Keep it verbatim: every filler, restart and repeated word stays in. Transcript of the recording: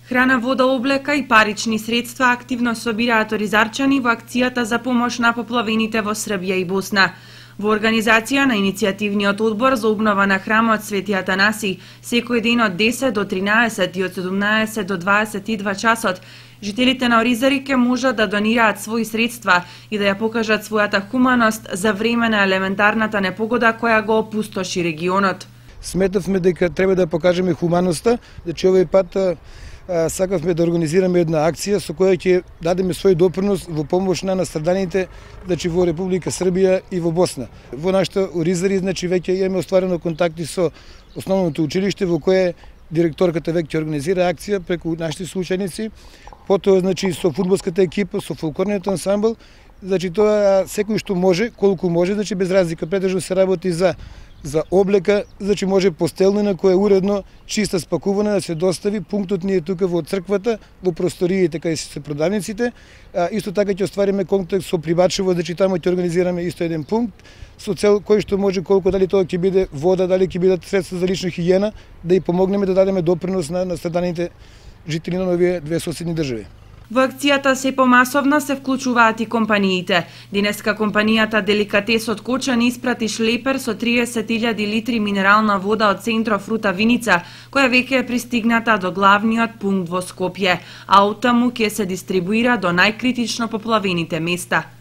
Храна, вода, облека и парични средства активно собираат оризарчани во акцијата за помош на поплавените во Србија и Босна. Во организација на иницијативниот одбор за обнова на храмот Свети Атанаси, секој ден од десет до тринаесет и од седумнаесет до дваесет и два часот, жителите на Оризари ќе можат да донираат своји средства и да ја покажат својата хуманост за време на елементарната непогода која го опустоши регионот. Сметавме дека треба да покажеме хуманоста, значи овој пат а, сакавме да организираме една акција со која ќе дадеме свој допринос во помош на настраданите, значи во Република Србија и во Босна. Во нашата Оризари, значи веќе имаме остварено контакти со основното училиште во кое директорката веќе организира акција преку нашите соученици, потоа значи со фудбалската екипа, со фолклорниот ансамбл, значи тоа секој што може, колку може, значи без разлика, преtežно се работи за за облека, значи може постелнина која е уредно чиста спакувана да се достави. Пунктот ни е тука во црквата, во просториите кај се продавниците. А, исто така ќе оствариме контакт со Прибачево, значи таму ќе организираме исто еден пункт со цел кој што може, колку дали тоа ќе биде вода, дали ќе бидат средства за лична хигиена, да и помогнеме да дадеме допринос на настраданите жители на овие две соседни држави. Во акцијата се помасовно се вклучуваат и компаниите. Денеска компанијата Деликатесот Кочани испрати шлепер со триесет илјади литри минерална вода од Центров Рута Виница, која веќе е пристигната до главниот пункт во Скопје, а оттаму ќе се дистрибуира до најкритично поплавените места.